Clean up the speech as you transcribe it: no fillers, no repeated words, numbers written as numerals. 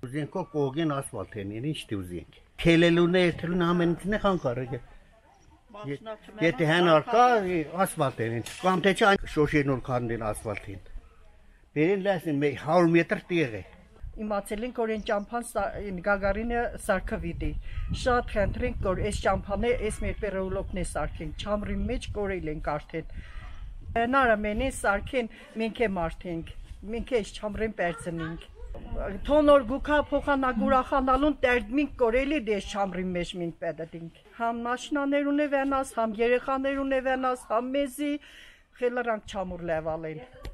Ուզենքո կողին ասֆալտ են, ինչ դուզենք։ Քելելուն է, երթելուն ամենից է խան կարելի։ Եթե հենար կա ասֆալտ են, կամ թե չէ շոշերն որ քանդեն ասֆալտին։ Բերին լասին 100 մետր տեղ է։ Իմացել ենք, որ այն ճամփան Գագարինը սարքվիդի։ Շատ խնդրենք, որ այս ճամփանը այս մեր պերեոլոգն է սարքենք, չամրի մեջ կորել ենք արդեն։ Հնարը մենին սարքեն, մենք է մարդենք, մենք է այս չամրին պերծնենք։ Թոնոր գուքա փոխանագուրախանալուն տերդմինք կորելի դես չամրի մեջ մենք պետդինք։ Համ մաշինաներուն է վենաս, համ երեխաներուն է վենաս, համ մեզի խելրանք չամուր լևալեն։